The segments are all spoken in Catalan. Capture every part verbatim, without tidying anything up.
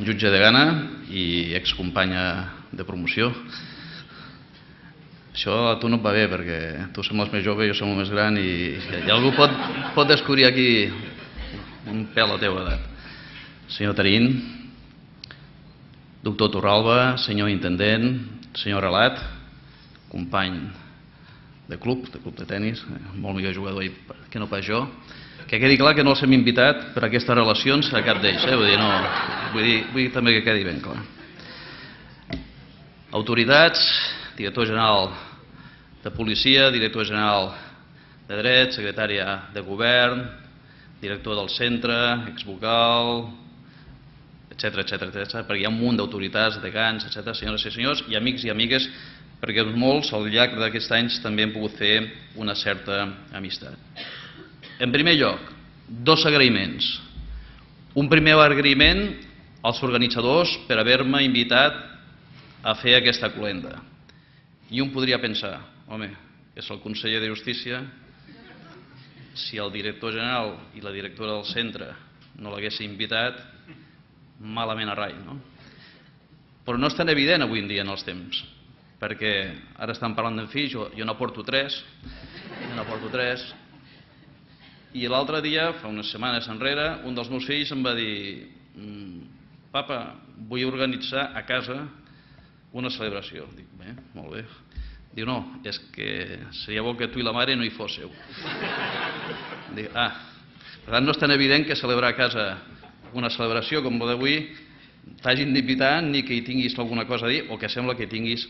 jutge de Gana i excompanya de promoció. Això a tu no et va bé perquè tu sembles més jove i jo som més gran i, i algú pot, pot descobrir aquí un pèl a la teva edat. Senyor Tarín, doctor Torralba, senyor intendent, senyor Relat, company de club, de club de tenis, molt millor jugador que no pas jo, que quedi clar que no els hem invitat per aquestes relacions a cap d'ells, eh? vull dir, no, vull dir, vull dir també que quedi ben clar. Autoritats, director general de policia, director general de dret, secretària de govern, director del centre, exvocal, etcètera, etcètera, etcètera, perquè hi ha un munt d'autoritats, degans, etcètera, senyores i senyors, i amics i amigues, perquè molts al llarg d'aquests anys també hem pogut fer una certa amistat. En primer lloc, dos agraïments. Un primer agraïment als organitzadors per haver-me invitat a fer aquesta cloenda. I un podria pensar, home, és el conseller de Justícia, si el director general i la directora del centre no l'haguessin invitat, malament a rai, no? Però no és tan evident avui en dia en els temps, perquè ara estan parlant d'en fills, jo, jo n'aporto tres, jo n'aporto tres, i l'altre dia, fa unes setmanes enrere, un dels meus fills em va dir papa, vull organitzar a casa una celebració. Dic, bé, molt bé. Diu, no, és que seria bo que tu i la mare no hi fósseu. Dic, ah, per tant no és tan evident que celebrar a casa una celebració com la d'avui t'hagin d'invitar ni que hi tinguis alguna cosa a dir o que sembla que hi tinguis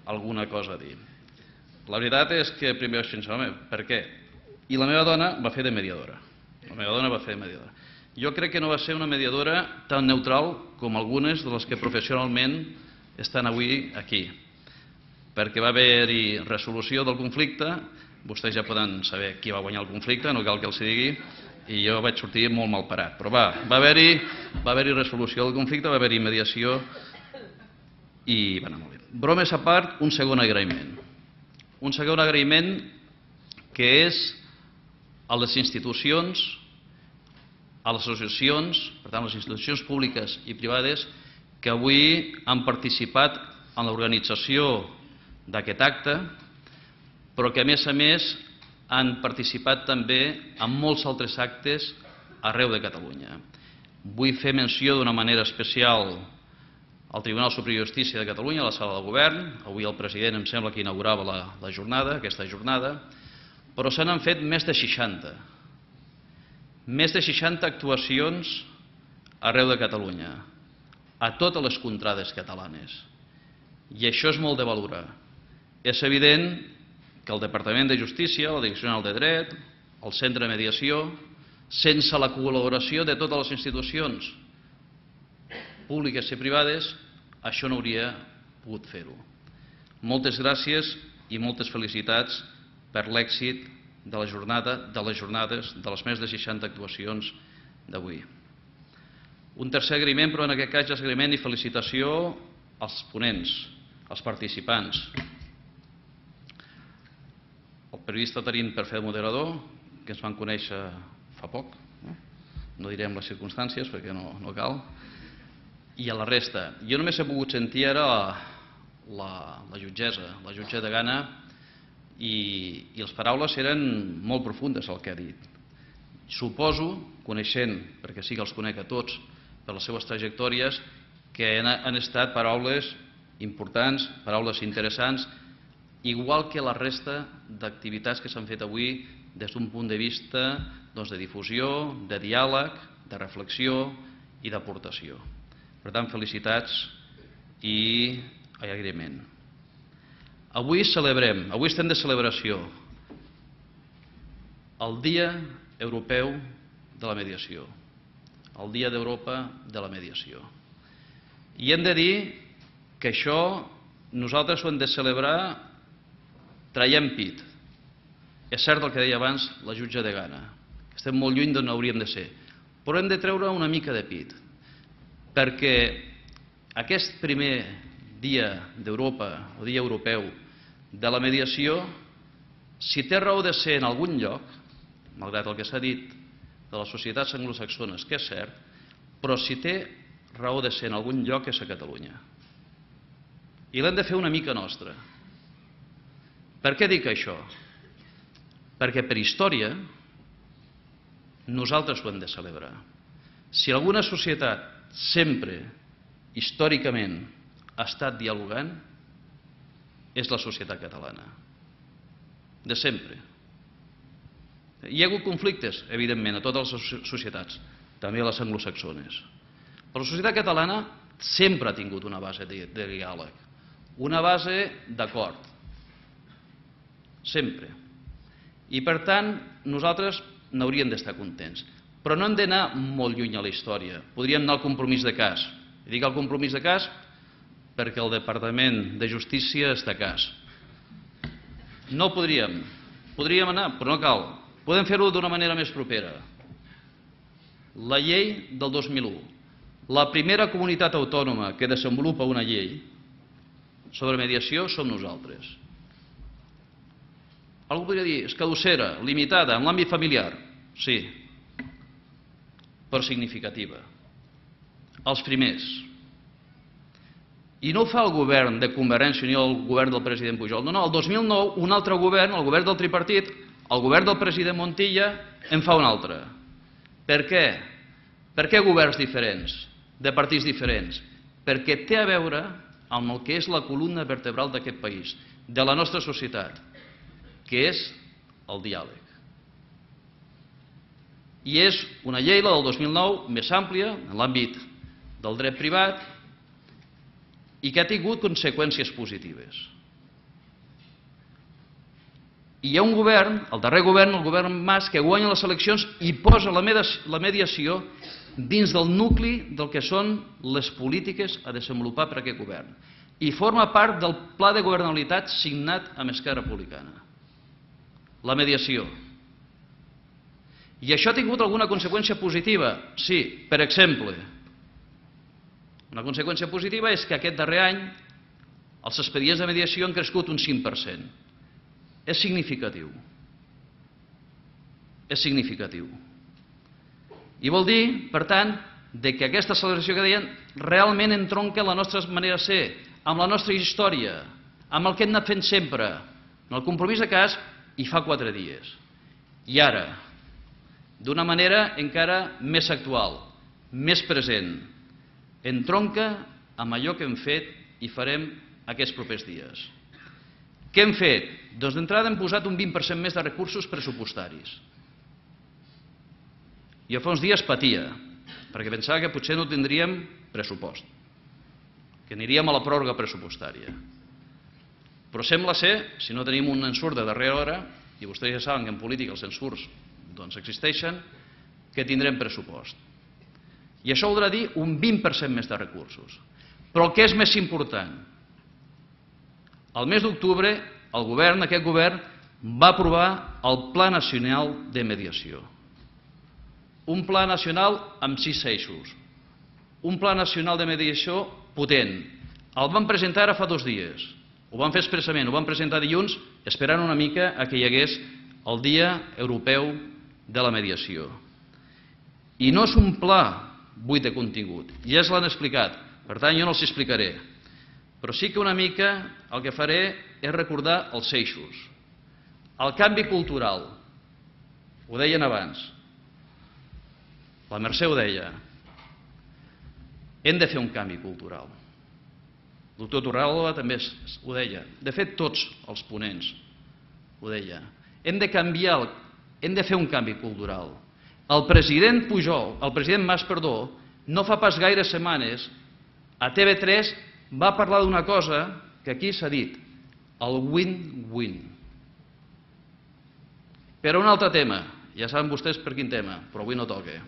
alguna cosa a dir. La veritat és que primer vaig pensar, home, per què? I la meva dona va fer de mediadora. La meva dona va fer de mediadora. Jo crec que no va ser una mediadora tan neutral com algunes de les que professionalment estan avui aquí, perquè va haver-hi resolució del conflicte, vostès ja poden saber qui va guanyar el conflicte, no cal que els digui, i jo vaig sortir molt mal parat, però va, va haver-hi va haver-hi resolució del conflicte, va haver-hi mediació i va anar molt bé. Bromes a part, un segon agraïment. Un segon agraïment que és a les institucions, a les associacions, per tant, les institucions públiques i privades que avui han participat en l'organització d'aquest acte, però que a més a més han participat també en molts altres actes arreu de Catalunya. Vull fer menció d'una manera especial al Tribunal Superior de Justícia de Catalunya, a la sala de govern. Avui el president em sembla que inaugurava la, la jornada, aquesta jornada, però se n'han fet més de seixanta. Més de seixanta actuacions arreu de Catalunya, a totes les contrades catalanes. I això és molt de valorar. És evident que el Departament de Justícia, la Direcció General de Dret, el Centre de Mediació, sense la col·laboració de totes les institucions públiques i privades, això no hauria pogut fer-ho. Moltes gràcies i moltes felicitats per l'èxit de la jornada, de les jornades, de les més de seixanta actuacions d'avui. Un tercer agraïment, però en aquest cas és agraïment i felicitació als ponents, als participants. El periodista Tarín per fer de moderador, que ens van conèixer fa poc, no, no direm les circumstàncies perquè no, no cal, i a la resta. Jo només he pogut sentir ara la, la, la jutgessa, la jutge de Gana, i, i les paraules eren molt profundes el que ha dit. Suposo, coneixent, perquè sí que els conec a tots, per les seves trajectòries, que han, han estat paraules importants, paraules interessants, igual que la resta d'activitats que s'han fet avui des d'un punt de vista doncs, de difusió, de diàleg, de reflexió i d'aportació. Per tant, felicitats i agraïment. Avui celebrem, avui estem de celebració, el Dia Europeu de la Mediació, el Dia d'Europa de la Mediació. I hem de dir que això nosaltres ho hem de celebrar traient pit. És cert el que deia abans la jutge de Gana, que estem molt lluny d'on hauríem de ser, però hem de treure una mica de pit, perquè aquest primer Dia d'Europa o Dia Europeu de la Mediació, si té raó de ser en algun lloc, malgrat el que s'ha dit de les societats anglosaxones, que és cert, però si té raó de ser en algun lloc és a Catalunya. I l'hem de fer una mica nostra. Per què dic això? Perquè per història nosaltres ho hem de celebrar. Si alguna societat sempre, històricament, ha estat dialogant, és la societat catalana. De sempre. Hi ha hagut conflictes, evidentment, a totes les societats, també a les anglosaxones. Però la societat catalana sempre ha tingut una base de diàleg, una base d'acord. Sempre. I, per tant, nosaltres n'hauríem d'estar contents. Però no hem d'anar molt lluny a la història. Podríem anar al compromís de cas. I dic el compromís de cas perquè el Departament de Justícia està a cas. No podríem. Podríem anar, però no cal. Podem fer-ho d'una manera més propera. La llei del dos mil u. La primera comunitat autònoma que desenvolupa una llei sobre mediació som nosaltres. Algú podria dir, és caducera, limitada, en l'àmbit familiar. Sí, però significativa. Els primers. I no ho fa el govern de Convergència i Unió, el govern del president Pujol. No, no, el dos mil nou un altre govern, el govern del tripartit, el govern del president Montilla, en fa un altre. Per què? Per què governs diferents, de partits diferents? Perquè té a veure amb el que és la columna vertebral d'aquest país, de la nostra societat, que és el diàleg. I és una llei, la del dos mil nou, més àmplia, en l'àmbit del dret privat, i que ha tingut conseqüències positives. I hi ha un govern, el darrer govern, el govern Mas, que guanya les eleccions i posa la mediació dins del nucli del que són les polítiques a desenvolupar per aquest govern. I forma part del pla de governabilitat signat amb Esquerra Republicana. La mediació. I això ha tingut alguna conseqüència positiva? Sí, per exemple, una conseqüència positiva és que aquest darrer any els expedients de mediació han crescut un cinc per cent. És significatiu. És significatiu. I vol dir, per tant, que aquesta celebració que deien realment entronca la nostra manera de ser, amb la nostra història, amb el que hem anat fent sempre, en el compromís de cas, i fa quatre dies. I ara, d'una manera encara més actual, més present, entronca amb allò que hem fet i farem aquests propers dies. Què hem fet? Doncs d'entrada hem posat un vint per cent més de recursos pressupostaris. Jo fa uns dies patia, perquè pensava que potser no tindríem pressupost, que aniríem a la pròrroga pressupostària. Però sembla ser, si no tenim un ensurt de darrera hora, i vostès ja saben que en política els ensurts doncs existeixen, que tindrem pressupost. I això voldrà dir un vint per cent més de recursos. Però el que és més important, el mes d'octubre el govern, aquest govern, va aprovar el Pla Nacional de Mediació. Un pla nacional amb sis eixos. Un pla nacional de mediació potent. El vam presentar ara fa dos dies. Ho vam fer expressament, ho vam presentar dilluns, esperant una mica a que hi hagués el Dia Europeu de la Mediació. I no és un pla buit de contingut, ja es l'han explicat, per tant jo no els explicaré. Però sí que una mica el que faré és recordar els eixos. El canvi cultural, ho deien abans, la Mercè ho deia, hem de fer un canvi cultural. El doctor Torralba també ho deia, de fet tots els ponents ho deia. Hem de canviar, hem de fer un canvi cultural. El president Pujol, el president Mas, perdó, no fa pas gaires setmanes, a T V tres va parlar d'una cosa que aquí s'ha dit, el win-win. Per un altre tema, ja saben vostès per quin tema, però avui no toca.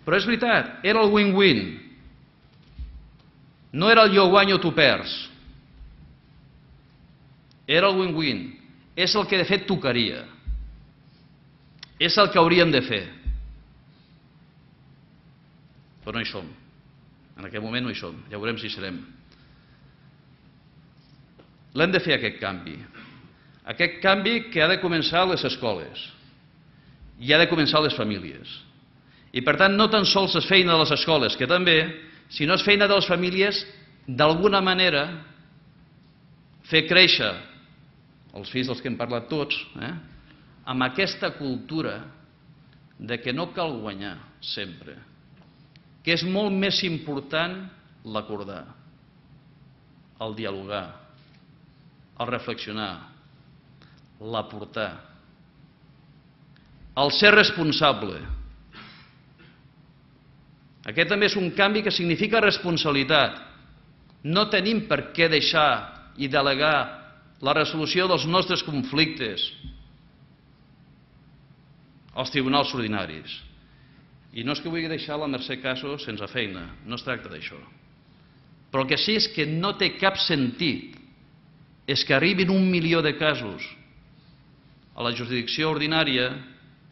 Però és veritat, era el win-win. No era el jo guanyo, tu perds. Era el win-win. És el que de fet tocaria. És el que hauríem de fer. Però no hi som. En aquest moment no hi som. Ja veurem si serem. L'hem de fer aquest canvi. Aquest canvi que ha de començar a les escoles. I ha de començar a les famílies. I per tant no tan sols és feina de les escoles, que també, sinó és feina de les famílies d'alguna manera fer créixer els fills dels que hem parlat tots, eh, amb aquesta cultura de que no cal guanyar sempre, que és molt més important l'acordar, el dialogar, el reflexionar, l'aportar, el ser responsable. Aquest també és un canvi que significa responsabilitat. No tenim per què deixar i delegar la resolució dels nostres conflictes als tribunals ordinaris. I no és que vulgui deixar la Mercè Casas sense feina, no es tracta d'això. Però el que sí és que no té cap sentit és que arribin un milió de casos a la jurisdicció ordinària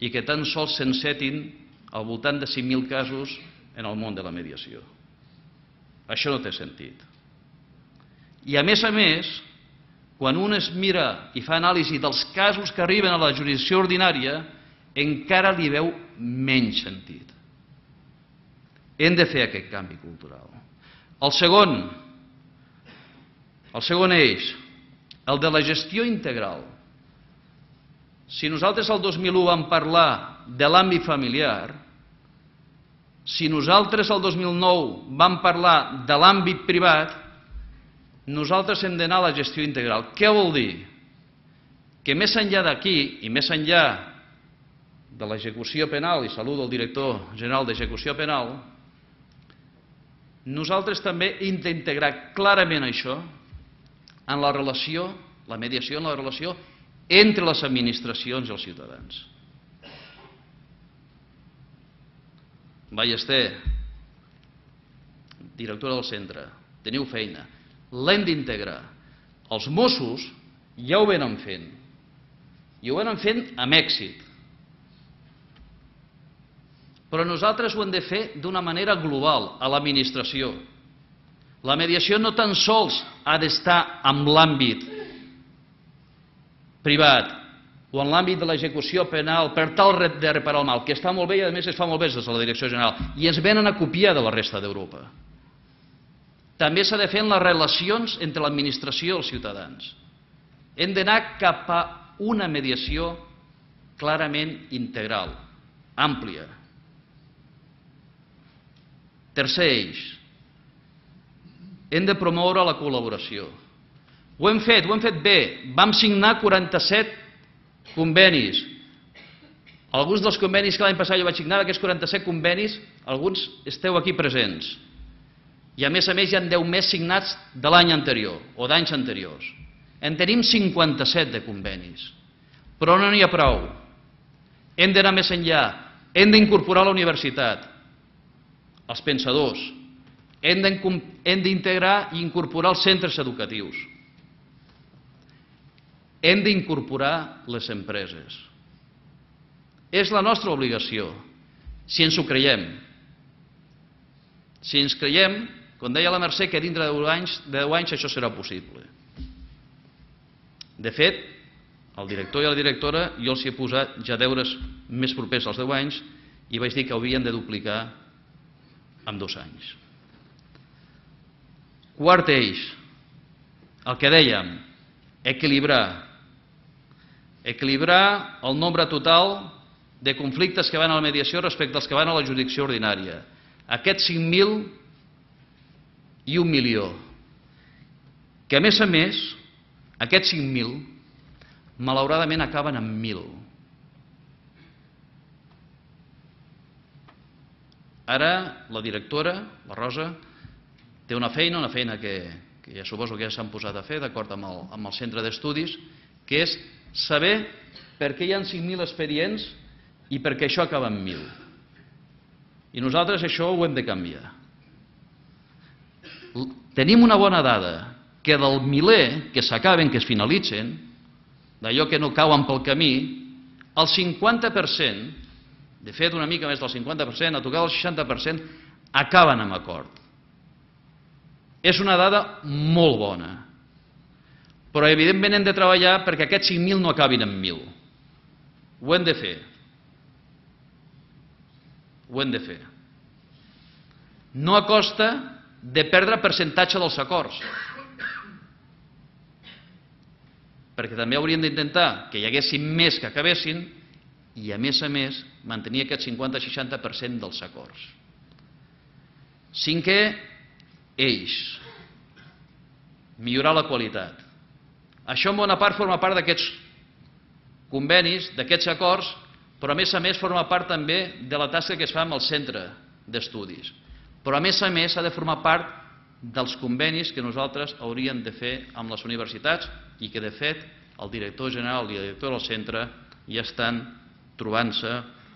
i que tan sols s'encetin al voltant de cinc mil casos en el món de la mediació. Això no té sentit. I a més a més, quan un es mira i fa anàlisi dels casos que arriben a la jurisdicció ordinària, encara li veu menys sentit. Hem de fer aquest canvi cultural. El segon, el segon eix, el de la gestió integral. Si nosaltres el dos mil u vam parlar de l'àmbit familiar, si nosaltres el dos mil nou vam parlar de l'àmbit privat, nosaltres hem d'anar a la gestió integral. Què vol dir? Que més enllà d'aquí i més enllà de l'execució penal, i saludo el director general d'execució penal, nosaltres també hem d'integrar clarament això en la relació, la mediació en la relació entre les administracions i els ciutadans. Ballester, directora del centre, teniu feina, l'hem d'integrar. Els Mossos ja ho venen fent, i ho venen fent amb èxit. Però nosaltres ho hem de fer d'una manera global, a l'administració. La mediació no tan sols ha d'estar en l'àmbit privat o en l'àmbit de l'execució penal per tal de reparar el mal, que està molt bé i a més es fa molt bé des de la Direcció General, i ens venen a copiar de la resta d'Europa. També s'ha de fer en les relacions entre l'administració i els ciutadans. Hem d'anar cap a una mediació clarament integral, àmplia. Tercer eix, hem de promoure la col·laboració. Ho hem fet, ho hem fet bé. Vam signar quaranta-set convenis. Alguns dels convenis que l'any passat jo vaig signar, d'aquests quaranta-set convenis, alguns esteu aquí presents. I a més a més hi ha deu més signats de l'any anterior o d'anys anteriors. En tenim cinquanta-set de convenis. Però no n'hi ha prou. Hem d'anar més enllà. Hem d'incorporar la universitat, els pensadors. Hem d'integrar i incorporar els centres educatius. Hem d'incorporar les empreses. És la nostra obligació, si ens ho creiem. Si ens creiem, com deia la Mercè, que dintre de deu anys, de deu anys això serà possible. De fet, el director i la directora, jo els he posat ja deures més propers als deu anys i vaig dir que havien de duplicar en dos anys. Quart eix, el que dèiem, equilibrar. Equilibrar el nombre total de conflictes que van a la mediació respecte als que van a la jurisdicció ordinària. Aquests cinc mil i un milió. Que a més a més, aquests cinc mil, malauradament acaben en mil. Ara la directora, la Rosa, té una feina, una feina que, que ja suposo que ja s'han posat a fer d'acord amb, el, amb el centre d'estudis, que és saber per què hi ha cinc mil expedients i per què això acaba en mil. I nosaltres això ho hem de canviar. Tenim una bona dada, que del miler que s'acaben, que es finalitzen, d'allò que no cauen pel camí, el cinquanta per cent, de fet una mica més del cinquanta per cent, a tocar el seixanta per cent, acaben amb acord. És una dada molt bona. Però evidentment hem de treballar perquè aquests cinc mil no acabin en mil. Ho hem de fer. ho hem de fer. No a costa de perdre percentatge dels acords, perquè també hauríem d'intentar que hi haguessin més que acabessin i, a més a més, mantenir aquest cinquanta a seixanta per cent dels acords. Cinquè eix, millorar la qualitat. Això en bona part forma part d'aquests convenis, d'aquests acords, però a més a més forma part també de la tasca que es fa amb el centre d'estudis. Però a més a més ha de formar part dels convenis que nosaltres hauríem de fer amb les universitats i que de fet el director general i el director del centre ja estan trobant-se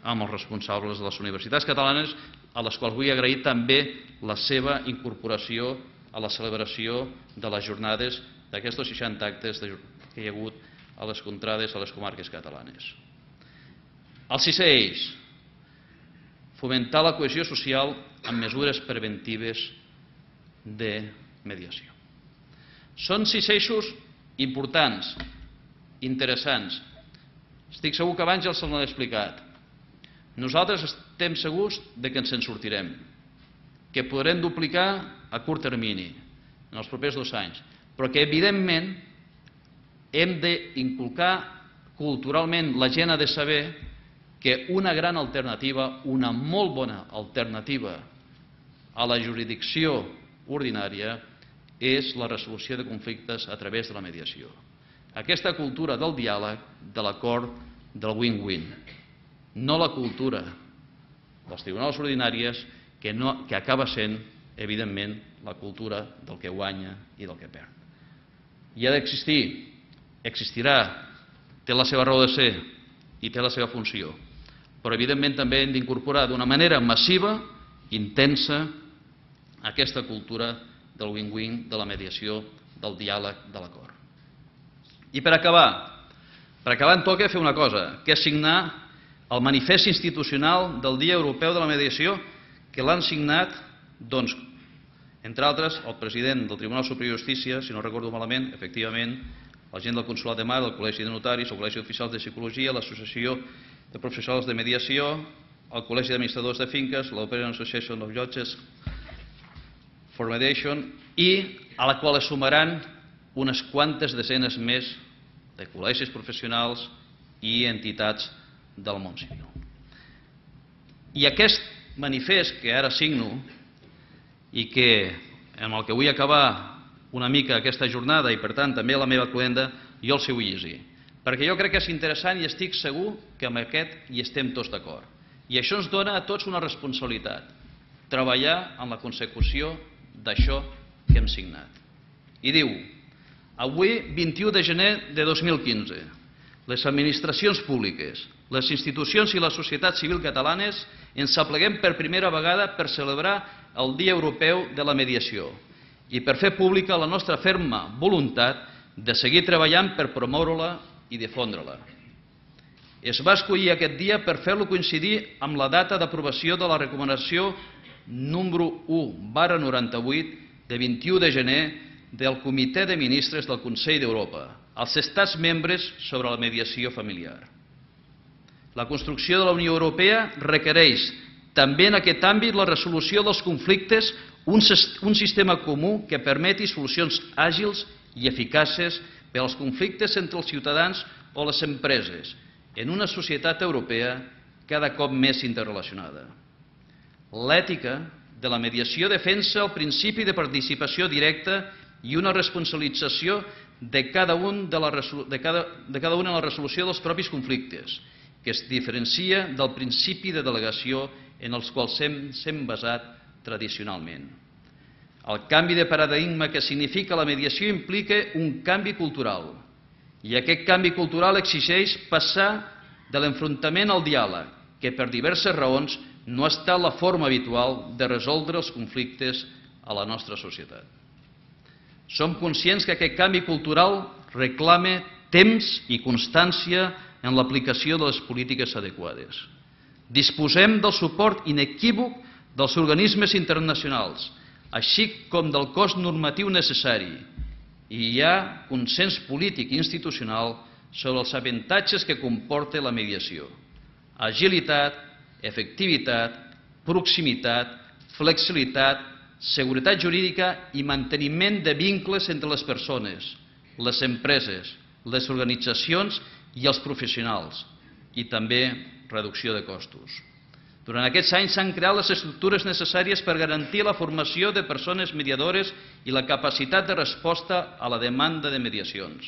amb els responsables de les universitats catalanes, a les quals vull agrair també la seva incorporació a la celebració de les jornades d'aquests seixanta actes que hi ha hagut a les contrades a les comarques catalanes. El sisè eix, fomentar la cohesió social amb mesures preventives de mediació. Són sis eixos importants, interessants. Estic segur que abans ja els l'he explicat. Nosaltres estem segurs de que ens en sortirem, que podrem duplicar a curt termini, en els propers dos anys, però que evidentment hem d'inculcar culturalment, la gent ha de saber que una gran alternativa, una molt bona alternativa a la jurisdicció ordinària és la resolució de conflictes a través de la mediació. Aquesta cultura del diàleg, de l'acord, del win-win. No la cultura dels tribunals ordinàries que, no, que acaba sent, evidentment, la cultura del que guanya i del que perd. I ha d'existir, existirà, té la seva raó de ser i té la seva funció, però evidentment també hem d'incorporar d'una manera massiva, intensa, aquesta cultura del win-win, de la mediació, del diàleg, de l'acord. I per acabar, per acabar em toca fer una cosa, que és signar el manifest institucional del Dia Europeu de la Mediació, que l'han signat, doncs, entre altres, el president del Tribunal Superior de Justícia, si no recordo malament, efectivament, la gent del Consolat de Mar, el Col·legi de Notaris, el Col·legi d'Oficials de Psicologia, l'Associació de Professionals de Mediació, el Col·legi d'Administradors de Finques, l'European Association of Judges for Mediation, i a la qual es sumaran unes quantes desenes més de col·legis professionals i entitats del món civil. I aquest manifest que ara signo i que amb el que vull acabar una mica aquesta jornada i per tant també la meva cluenda, jo el sé vull llegir, perquè jo crec que és interessant i estic segur que amb aquest hi estem tots d'acord. I això ens dona a tots una responsabilitat, treballar en la consecució d'això que hem signat. I diu: avui, vint-i-u de gener de dos mil quinze, les administracions públiques, les institucions i la societat civil catalanes ens apleguem per primera vegada per celebrar el Dia Europeu de la Mediació i per fer pública la nostra ferma voluntat de seguir treballant per promoure-la i difondre-la. Es va escollir aquest dia per fer-lo coincidir amb la data d'aprovació de la recomanació número u barra noranta-vuit de vint-i-u de gener del Comitè de Ministres del Consell d'Europa, als estats membres sobre la mediació familiar. La construcció de la Unió Europea requereix també en aquest àmbit la resolució dels conflictes, un, un sistema comú que permeti solucions àgils i eficaces per als conflictes entre els ciutadans o les empreses en una societat europea cada cop més interrelacionada. L'ètica de la mediació defensa el principi de participació directa i una responsabilització de cada, un de, la, de, cada, de cada una en la resolució dels propis conflictes, que es diferencia del principi de delegació en els quals s'hem basat tradicionalment. El canvi de paradigma que significa la mediació implica un canvi cultural, i aquest canvi cultural exigeix passar de l'enfrontament al diàleg, que per diverses raons no ha estat la forma habitual de resoldre els conflictes a la nostra societat. Som conscients que aquest canvi cultural reclama temps i constància en l'aplicació de les polítiques adequades. Disposem del suport inequívoc dels organismes internacionals, així com del cos normatiu necessari, i hi ha consens polític i institucional sobre els avantatges que comporta la mediació: agilitat, efectivitat, proximitat, flexibilitat, seguretat jurídica i manteniment de vincles entre les persones, les empreses, les organitzacions i els professionals, i també reducció de costos. Durant aquests anys s'han creat les estructures necessàries per garantir la formació de persones mediadores i la capacitat de resposta a la demanda de mediacions.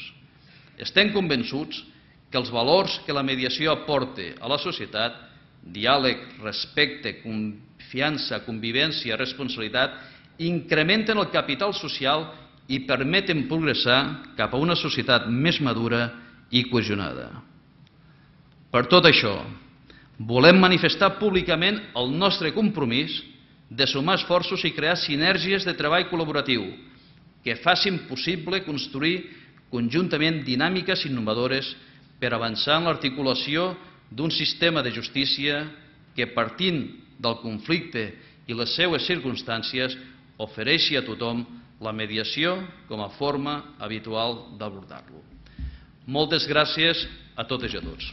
Estem convençuts que els valors que la mediació aporta a la societat, diàleg, respecte, confiança, convivència, responsabilitat, incrementen el capital social i permeten progressar cap a una societat més madura i cohesionada. Per tot això, volem manifestar públicament el nostre compromís de sumar esforços i crear sinergies de treball col·laboratiu que facin possible construir conjuntament dinàmiques innovadores per avançar en l'articulació d'un sistema de justícia que, partint del conflicte i les seues circumstàncies, ofereixi a tothom la mediació com a forma habitual d'abordar-lo. Moltes gràcies a totes i a tots.